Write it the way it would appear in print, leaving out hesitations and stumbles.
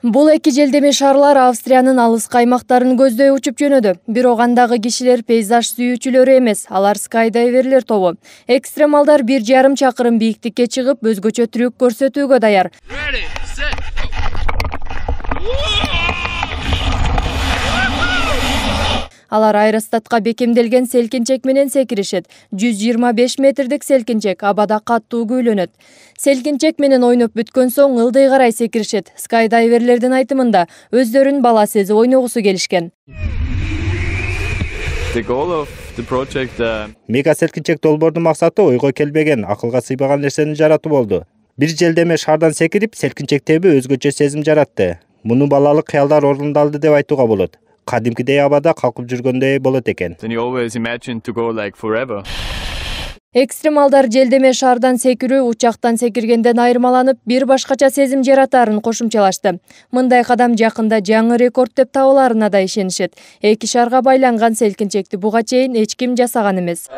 Бул эки желдеме шарлар Австриянын алыс аймактарын көздөй учуп жөнөдү. Бирок андагы кишилер пейзаж сүйүүчүлөрү эмес, алар скайдайверлер тобу. Экстремалдар 1,5 чакырым бийиктикке чыгып, өзгөчө трюк көрсөтүүгө даяр. Алар аэростатка бекемделген селкинчек менен секиришет. 125 метрдик селкинчек абада каттуу күйлөнөт. Селкинчек менен ойноп бүткөн соң ылдый карай секиришет. Скайдайверлердин айтымында өздөрүн бала сезип ойногусу келишкен. Мега селкинчек долбоордун максаты ойго келбеген, акылга сыйбаган нерсени жаратуу болду. Бир желдеме шардан секирип, селкинчектеби өзгөчө сезим жаратты. Муну балалык кыялдар орундалды деп айтууга болот. Кадимкидей абада калкып жүргөндөй болот экен. Экстремалдар желдеме шардан секирүү учактан секиргенден айырмаланып, бир башкача сезим жаратаарын кошумчалашты. Мындай кадам жакында жаңы рекорд деп табыларына да ишенишет. Эки шарга байланган селкинчекти буга чейин эч ким жасаган эмес.